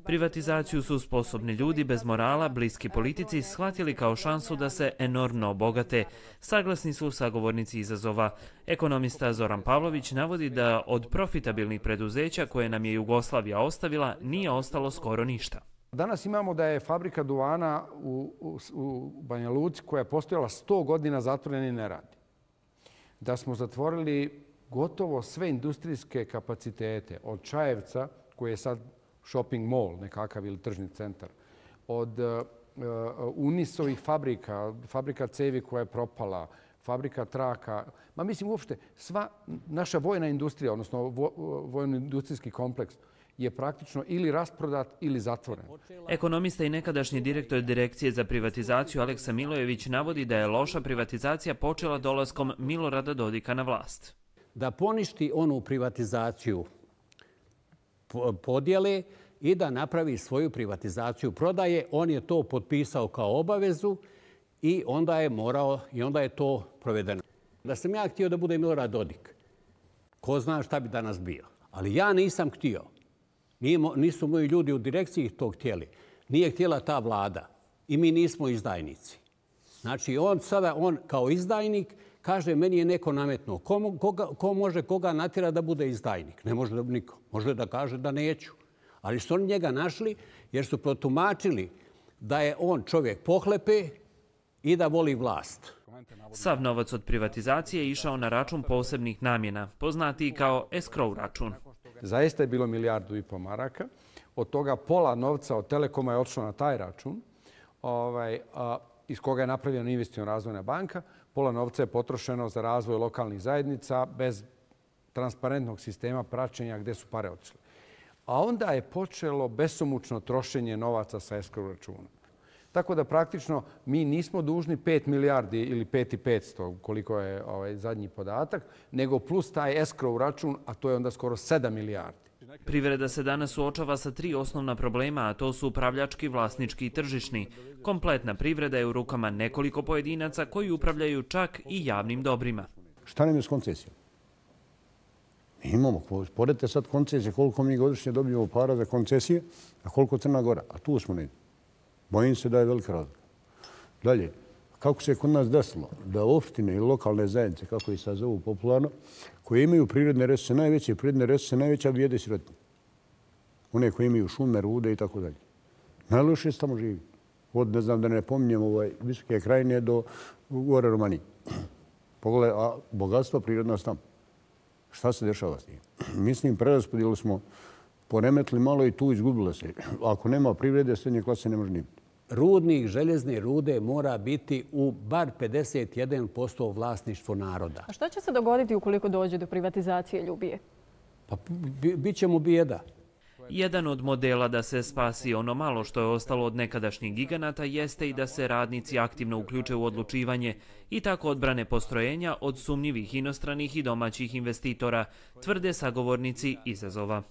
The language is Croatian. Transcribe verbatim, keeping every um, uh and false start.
Privatizaciju su sposobni ljudi bez morala, bliski politici, shvatili kao šansu da se enormno obogate. Saglasni su sagovornici izazova. Ekonomista Zoran Pavlović navodi da od profitabilnih preduzeća koje nam je Jugoslavija ostavila nije ostalo skoro ništa. Danas imamo da je fabrika duvana u, u, u Banja Luci koja je postojala sto godina zatvorena i ne radi. Da smo zatvorili gotovo sve industrijske kapacitete od Čajevca, koji je sad shopping mall nekakav ili tržni centar, od uh, Unisovih fabrika, fabrika cevi koja je propala, fabrika traka, ma mislim uopšte sva naša vojna industrija, odnosno vo, vojno-industrijski kompleks je praktično ili rasprodat ili zatvoren. Ekonomista i nekadašnji direktor Direkcije za privatizaciju Aleksa Milojević navodi da je loša privatizacija počela dolaskom Milorada Dodika na vlast. Da poništi onu privatizaciju podjele i da napravi svoju privatizaciju prodaje. On je to potpisao kao obavezu i onda je morao i onda je to provedeno. Da sam ja htio da bude Milorad Dodik, ko zna šta bi danas bio. Ali ja nisam htio. Nisu moji ljudi u direkciji to htjeli. Nije htjela ta vlada i mi nismo izdajnici. Znači on sada, on kao izdajnik kaže meni je neko nametnuo. Ko, koga, ko može koga natjera da bude izdajnik? Ne može da niko. Može da kaže da neću. Ali su oni njega našli jer su protumačili da je on čovjek pohlepe i da voli vlast. Sav novac od privatizacije je išao na račun posebnih namjena, poznati kao escrow račun. Zaista je bilo milijardu i po maraka. Od toga pola novca od Telekoma je otišlo na taj račun, ovaj, a, iz koga je napravljena investiciona razvojna banka. Pola novca je potrošeno za razvoj lokalnih zajednica bez transparentnog sistema praćenja gdje su pare otišle. A onda je počelo besomučno trošenje novaca sa escrow računa. Tako da praktično mi nismo dužni pet milijardi ili pet i petsto, koliko je ovaj zadnji podatak, nego plus taj escrow račun, a to je onda skoro sedam milijardi. Privreda se danas suočava sa tri osnovna problema, a to su upravljački, vlasnički i tržišni. Kompletna privreda je u rukama nekoliko pojedinaca koji upravljaju čak i javnim dobrima. Šta nam je s koncesijom? Mi imamo, poredite sad koncesije, koliko mi godišnje dobijemo para za koncesije, a koliko Crna Gora, a tu smo negdje. Bojim se da je velika razlika. Dalje, kako se kod nas desilo da opštine i lokalne zajednice, kako ih sad zovu popularno, koje imaju prirodne resurse, najveće prirodne resurse, najveća bijeda i sirotinja. One koje imaju šume, rude i tako dalje. Najlošije se tamo živi. Od, ne znam da ne pominjem, ovaj, Visoke Krajine do gore Romanije. Pogledaj, a bogatstva prirodna su tamo. Šta se dešava s njim? Mislim, preraspodijeli smo poremetili malo i tu izgubilo se. Ako nema privrede, srednje klase ne može ni biti. Rudnik željezne rude mora biti u bar pedeset jedan posto vlasništvo naroda. A šta će se dogoditi ukoliko dođe do privatizacije Ljubije? Pa bit će mu bijeda. Jedan od modela da se spasi ono malo što je ostalo od nekadašnjih giganata jeste i da se radnici aktivno uključe u odlučivanje i tako odbrane postrojenja od sumnjivih inostranih i domaćih investitora, tvrde sagovornici izazova.